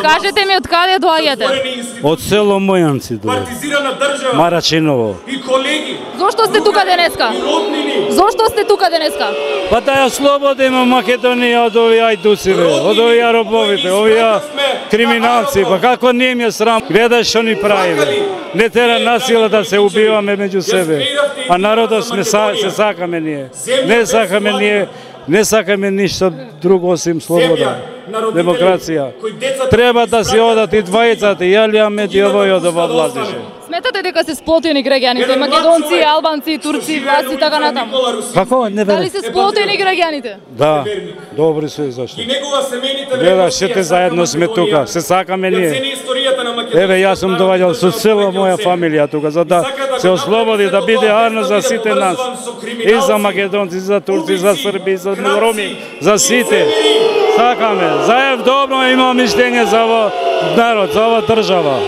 Кажете ми од каде доаѓате? Од село Мојанци доаѓам. Марачиново. Зошто сте тука денеска? Зошто сте тука денеска? Па да ја слободиме Македонија од овие ајдуци, од овие робовите, овие криминалци. Па како не им е срам? Гледај што ни правиме. Не тера насила да се убиваме меѓу себе. А народот се сакаме ние. Не сакаме ништо друго осим слобода. Демокрација. Треба да си одат и двајцата, и Алија Мети овој ова влазише. Сметате дека се сплотени граѓаните, македонци, албанци, турци, власти и така натаму? Како? Не верам. Дали се сплотени граѓаните? Да, добри се зашто. Гледаш, сите заедно сме тука, се сакаме ние. Еве, јас сум доваѓал со цела моја фамилија тука, за да се ослободи, да биде арно за сите нас. И за македонци, и за турци, и за срби, и за роми, за сите. Сакаме. Заев добро има мишлење за овој народ, за оваа држава.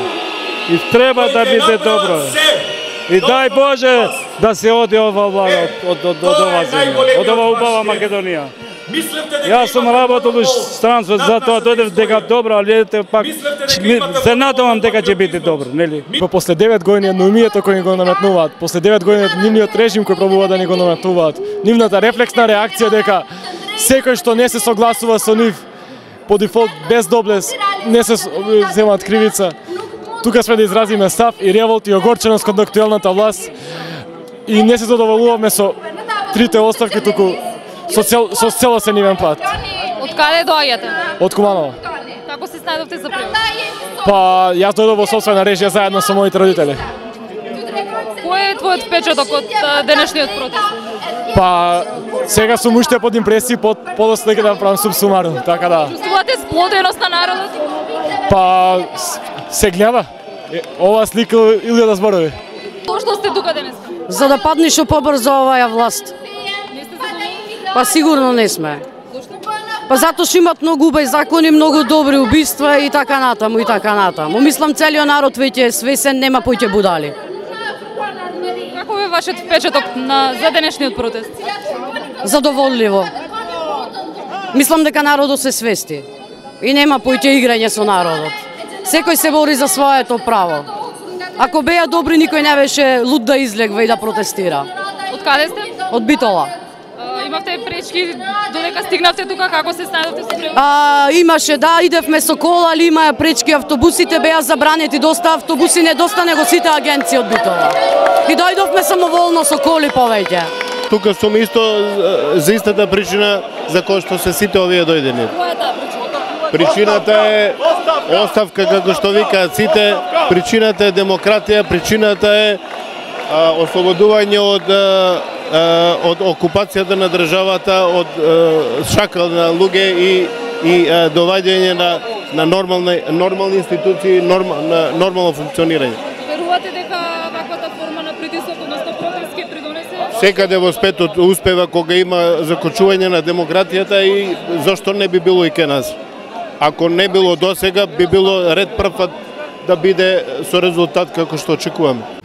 И треба да биде добро. И дај Боже да се оди ова влада од ова земја, од ова убава Македонија. Јас сум работел во странство, затоа дојдев дека добро, ali ете пак се надевам дека ќе биде добро, нели? После 9 години едноумието кој ни го наметнуваат, после 9 години нивниот режим кој пробува да ни го наметнуваат, нивната рефлексна реакција дека секој што не се согласува со нив по дефолт без доблес не се земаат кривица. Тука сме да изразиме став и револт и огорченост кон актуелната власт и не се задоволуваме со трите оставки, туку со целосен нивен пат. Од каде доаѓате? Од Куманово. Како се снајдовте за превоз? Па јас дојдов во сопствена режија заедно со моите родители. Кој е твојот впечаток од денешниот протест? Па сега сум уште под импресии, подоста дека да правам субсумарно, така да. Чувствувате сплотеност на народот? Па се гледа. Ова слика или да зборови. Зошто сте тука денес? За да падне што побрзо оваа власт. Не сте задоволни? Па сигурно не сме. Зошто? Па затоа што имат многу убави закони, многу добри убиства и така натаму и така натаму. Мислам целиот народ веќе е свесен, нема поќе будали. Како е вашиот впечаток за денешниот протест? Задоволливо. Мислам дека народот се свести и нема поќе играње со народот. Секој се бори за своето право. Ако беа добри, никој не беше луд да излегва и да протестира. Од каде сте? Од Битола. Имавте пречки додека стигнавте тука, како се снајдовте со превоз? Имаше, да, идевме со кола, али имаа пречки, автобусите беа забранети, доста автобуси недоста него сите агенции од Битола. И дојдовме самоволно со коли повеќе. Тука сум исто за истата причина за која што се сите овие дојдени. Која е таа причина? Причината е оставка, како што викаат сите, причината е демократија, причината е ослободување од окупацијата на државата, од шакал на луѓе и доваѓање на нормални институции, на нормално функционирање. Верувате дека ваквата форма на притисок, односно протест ќе придонесе? Секаде во светот успева кога има закочување на демократијата и зошто не би било и ке нас. Ако не било досега, би било ред прв пат да биде со резултат како што очекуваме.